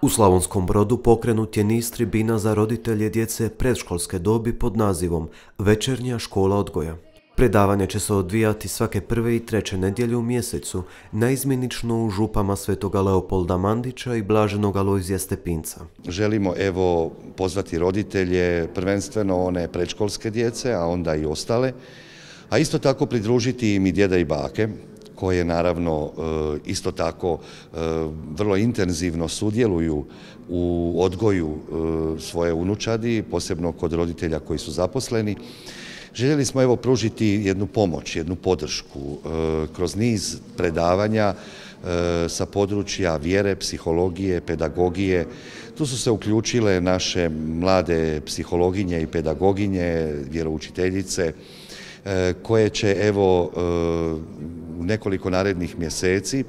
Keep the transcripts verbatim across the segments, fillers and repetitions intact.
U Slavonskom Brodu pokrenut je niz tribina za roditelje djece predškolske dobi pod nazivom Večernja škola odgoja. Predavanje će se odvijati svake prve i treće nedjelje u mjesecu, naizmjenično u župama Svetoga Leopolda Mandića i Blaženog Alojzija Stepinca. Želimo evo pozvati roditelje, prvenstveno one predškolske djece, a onda i ostale, a isto tako pridružiti im i djeda i bake, koje naravno isto tako vrlo intenzivno sudjeluju u odgoju svoje unučadi, posebno kod roditelja koji su zaposleni. Željeli smo evo pružiti jednu pomoć, jednu podršku kroz niz predavanja sa područja vjere, psihologije, pedagogije. Tu su se uključile naše mlade psihologinje i pedagoginje, vjeroučiteljice, koje će evo u nekoliko narednih mjeseci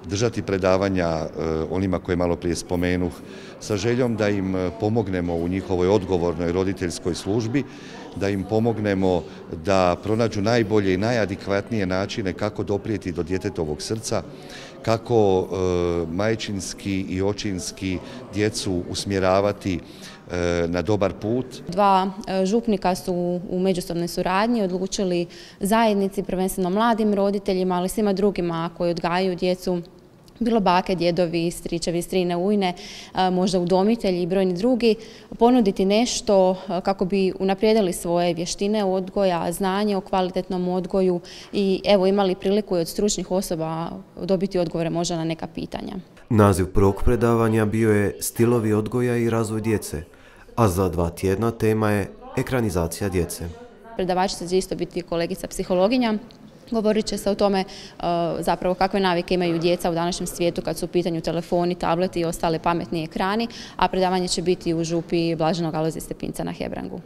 držati predavanja onima koje malo prije spomenuh, sa željom da im pomognemo u njihovoj odgovornoj roditeljskoj službi, da im pomognemo da pronađu najbolje i najadekvatnije načine kako doprijeti do djetetovog srca, kako majčinski i očinski djecu usmjeravati na dobar put. Dva župnika su u međusobnoj suradnji odlučili zajednici, prvenstveno mladim roditeljima, ali svima drugima koji odgajaju djecu, bilo bake, djedovi, stričevi, strine, ujne, možda udomitelji i brojni drugi, ponuditi nešto kako bi unaprijedili svoje vještine odgoja, znanje o kvalitetnom odgoju i evo imali priliku i od stručnih osoba dobiti odgovore možda na neka pitanja. Naziv prvog predavanja bio je Stilovi odgoja i razvoj djece, a za dva tjedna tema je ekranizacija djece. Predavačica će isto biti kolegica psihologinja. Govorit će se o tome zapravo kakve navike imaju djeca u današnjem svijetu kad su u pitanju telefoni, tableti i ostale pametni ekrani, a predavanje će biti u župi Blaženog Alojzija Stepinca na Hebrangu.